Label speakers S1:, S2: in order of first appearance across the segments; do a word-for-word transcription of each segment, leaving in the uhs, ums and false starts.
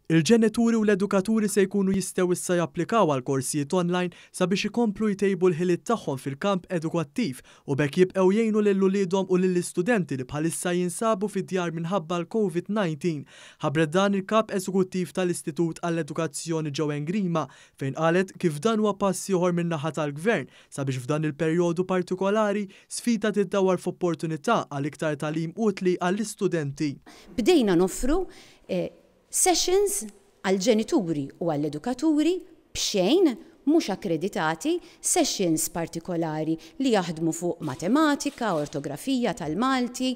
S1: Il-ġenituri u l-edukaturi se jkunu jistgħu issa japplikaw għal korsijiet online sabiex ikomplu jtejbu l-ħiliet tagħhom fil-kamp edukattiv u b'hekk jibqgħu jgħinu lil uliedhom u lill-istudenti li bħalissa jinsabu fid-djar minħabba l-Covid disa. Ħabbret dan il-kap eżekuttiv tal-Istitut għall-Edukazzjoni Joanne Grima, fejn qalet kif dan huwa pass ieħor min-naħa tal-Gvern sabiex f'dan il-perjodu partikolari sfida tiddawar f'opportunità għal iktar tagħlim utli għall-istudenti.
S2: Bdejna noffru eh, sessions għall-ġenituri u għall-edukaturi b'xejn, mhux akkreditati, sessions partikolari li jaħdmu fuq matematika, ortografija tal-Malti,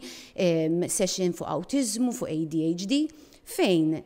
S2: session fuq awtiżmu, fuq A D H D, fejn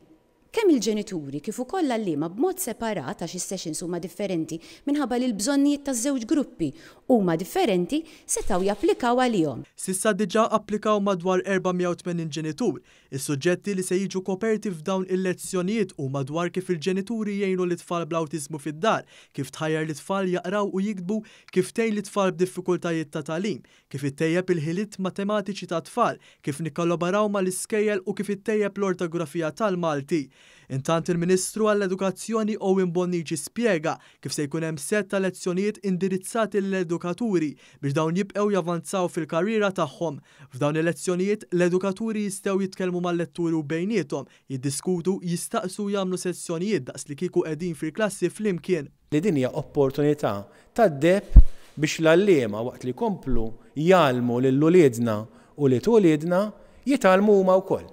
S2: kemm il-ġenituri kif ukoll l-għalliema b'mod separat, għax is-sessions huma differenti minħabba li l-bżonnijiet taż-żewġ gruppi huma differenti, setgħu japplikaw għalihom.
S1: S'issa diġà applikaw madwar erba' mija u tmenin ġenitur. Is-suġġetti li se jiġu koperti f'dawn il-lezzjonijiet huma dwar kif il-ġenituri jgħinu l-tfal bl-awtiżmu fid-dar, kif tħajjar l-tfal jaqraw u jiktbu, kif tgħin l-tfal b'diffikultajiet ta' tagħlim, kif ittejjeb il-ħiliet matematiċi ta' tfal, kif nikkollaboraw mal-iskejjel u kif ittejjeb l-ortografija tal-Malti. Intant, il-Ministru għall-Edukazzjoni Owen Bonnici spjega kif se jkun hemm set ta' lezzjonijiet indirizzati l-edukaturi biex dawn jibqgħu javanzaw fil-karriera tagħhom. F'dawn il-lezzjonijiet l-edukaturi jistgħu jitkellmu mal-letturi u bejniethom, jiddiskutu, jistaqsu, jagħmlu sessjonijiet daqs li kieku qegħdin fil-klassi flimkien.
S3: Li din hija opportunità tad-deheb biex l-għalliema, waqt li komplu jgħallmu lil uliedna u lil uliedna, jitgħallmu huma wkoll.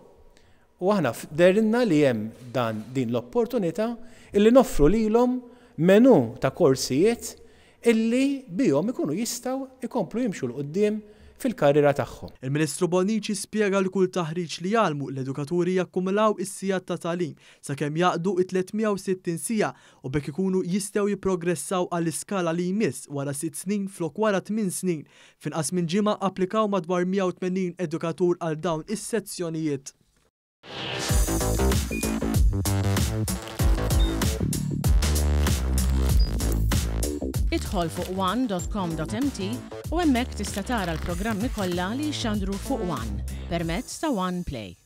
S3: U aħna dehrilna li hemm dan din l-opportunità illi noffru lilhom menu ta' korsijiet illi bihom ikunu jistgħu ikomplu jimxu 'l quddiem fil-karriera tagħhom.
S1: Il-Ministru Bonnici spjega li kull taħriġ li jgħallmu l-edukaturi jakkumulaw is-sigħat ta' tagħlim sakemm jagħqdu it-tliet mija u sittin siegħa u b'hekk ikunu jistgħu jipprogressaw għall-iskala li jmiss wara sitt snin flok wara tmien snin. F'inqas minn ġimgħa applikaw madwar mija u tmenin edukatur għal dawn is-sezzjonijiet.
S4: Idħol fuq one dot com dot M T u hemmhekk tista' tara l-programmi kollha li jixxandru fuq One permezz ta' One Play.